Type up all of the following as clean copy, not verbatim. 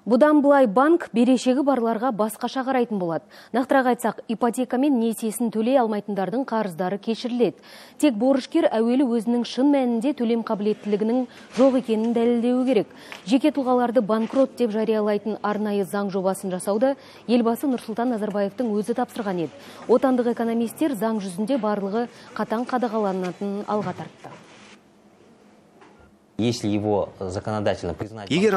Бұдан бұлай банк берешегі барларға басқаша қарайтын болады. Нақтырақ айтсақ, ипотека мен несиесін төлей алмайтындардың қарыздары кешіріледі. Тек борышкер әуелі өзінің шын мәнінде төлем қабілеттілігінің жоқ екенін дәлелдеуі керек. Жеке тұлғаларды банкрот деп жариялайтын арнайы заң жобасын жасауды елбасы Нұрсұлтан Назарбаевтың өзі тапсырған еді. Отандық экономистер заң жүзінде барлығы қатаң қадағаланатынын алға тартты. Егер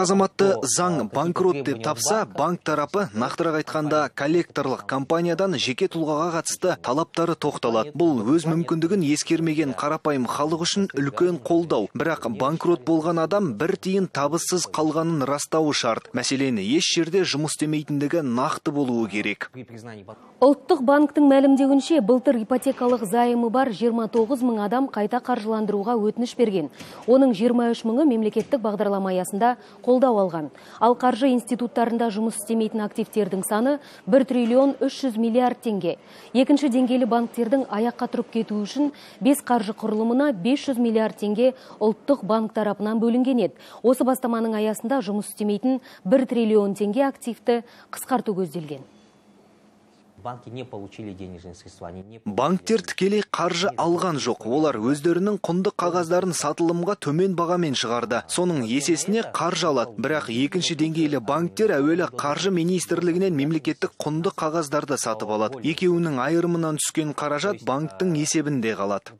азаматты заң банкрот деп тапса, банк тарапы, нақтырақ айтқанда коллекторлық компаниядан жеке тұлғаға қатысты талаптары тоқталады. Бұл өз мүмкіндігін ескермеген қарапайым халық үшін үлкен қолдау. Бірақ банкрот болған адам бір тиын табыссыз қалғанын растауы шарт. Мәселен, еш жерде жұмыс істемейтіндігі нақты болуы керек. Ұлттық банктың мәлімдеуінше, былтыр ипотекалық займы бар 29 мың адам қайта қаржыландыруға өтініш берген. Оның 23 мыңы мемлекеттік бағдарлама аясында қолдау алған. Ал қаржы институттарында жұмыс істемейтін активтердің саны 1 триллион 300 миллиард теңге. Екінші деңгейлі банктердің аяққа тұрып кетуі үшін 5 қаржы құрылымына 500 миллиард теңге ұлттық банк тарапынан бөлінген еді. Осы бастаманың аясында жұмыс істемейтін 1 триллион теңге активті қысқарту көзделген. Банктер тікелей қаржы алған жоқ. Олар өздерінің құнды қағаздарын сатылымға төмен бағамен шығарды. Соның есесіне қаржы алады. Бірақ екінші деңгейлі банктер әуелі қаржы министрлігінен мемлекеттік құнды қағаздарды сатып алады. Екеуінің айырымынан түскен қаражат банктың есебінде қалады.